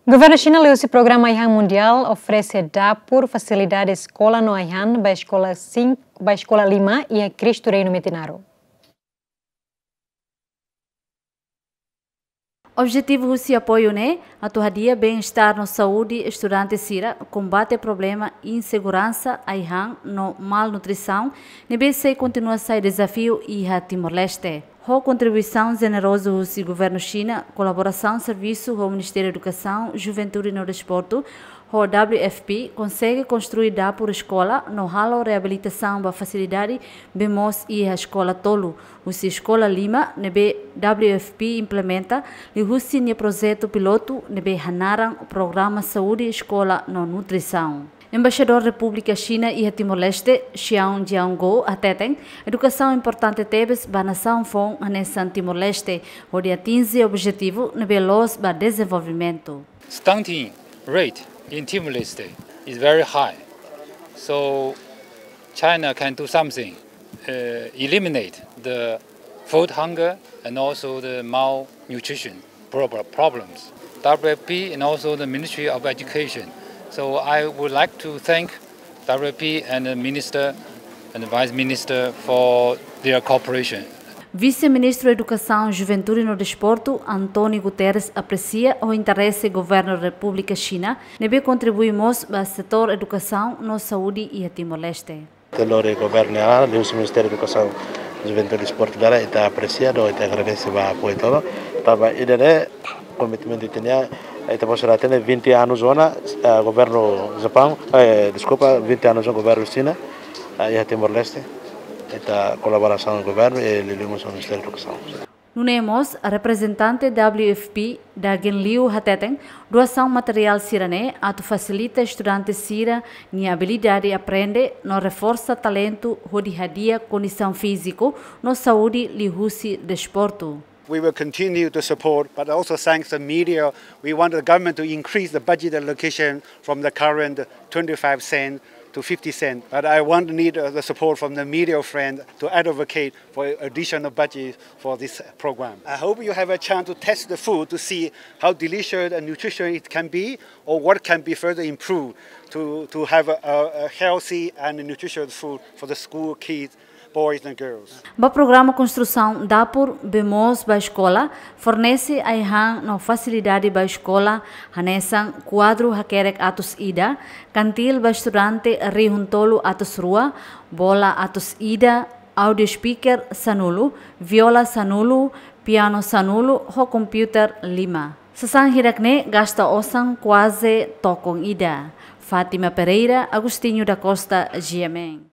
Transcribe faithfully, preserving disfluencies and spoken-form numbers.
Governu Xina liuhusi programa ai-han mundiál oferese dapur, fasilidade eskola no ai-han ba eskola sin, ba eskola lima iha Cristo Reino Metinaro. Objetivu husi apoiu ne'e atu hadi'a bem-estar no saúde estudante sira, kombate problema inseguransa ai-han no malnutrisaun ne'ebé sei kontinua sai dezafiu iha Timor-Leste. Ho kontribuisaun jenerozu husi Governu Xina, kolaborasaun servisu ho Ministériu Edukasaun, Juventude no Desportu, ho W F P, konsege konstrui dapur eskola no halo reabilitasaun ba fasilidade bee moos iha eskola tolu, husi eskola lima ne'ebé W F P implementa liuhusi nia projetu pilotu ne'ebé hanaran Programa Saúde Eskola no Nutrisaun. Embaixadór Repúblika Xina iha Timor-Leste, Xiao Jianguo, hateten, edukasaun importante tebes ba nasaun foun hanesan Timor-Leste, hodi atinje objetivu ne'ebé loos ba dezenvolvimentu. Stunting rate in Timor-Leste is very high. So China can do something, uh, eliminate the food hunger and also the malnutrition prob-, problems. W F P and also the Ministry of Education. So I would like to thank W F P and the Minister and the Vice Minister for their cooperation. Vise-Ministru Edukasaun, Juventude no Desportu, António Guterres, apresia ho interese Governu Repúblika Xina ne'ebé kontribui mós ba setór edukasaun no saúde iha Timor-Leste. Te lori governu nian, liuhusi Ministériu Edukasaun, Juventude no Desportu dala, ita apresia no ita agradese ba apoiu tolo. Tanba ida-ne'e komitmentu ita-nian, ita-boot sira hatene vinte anos ona, eh, governu Japaun, eh, deskulpa, vinte anos ona governu Xina, eh, iha Timor-Leste. Ita kolaborasaun governu, eh, liuliu mós Ministériu Edukasaun. Nune'e mós, reprezentante W F P, Dagen Liu, hateten, doasaun materiál sira-ne'e atu fasilita estudante sira-nia abilidade aprende no reforsa talentu hodi hadi'a kondisaun fíziku no saúde liuhusi desportu. We will continue to support, but also thanks the media. We want the government to increase the budget allocation from the current twenty-five cent to fifty cent. But I want, need, uh, the support from the media friend to advocate for additional budget for this program. I hope you have a chance to test the food to see how delicious and nutritious it can be, or what can be further improved to, to have a, a, a healthy and nutritious food for the school kids, boys and girls. Ba programa konstrusaun dapur bee moos ba eskola, fornese ai-han no fasilidade ba eskola, hanesan kuadru hakerek atus ida, kantil ba estudante rihun tolu atus rua, bola atus ida, audio speaker sanulu, viola sanulu, piano sanulu, ho komputer lima. Sasán hirak-ne'e gasta osan kuaze tokon ida. Fátima Pereira, Agostinho da Costa, G M N.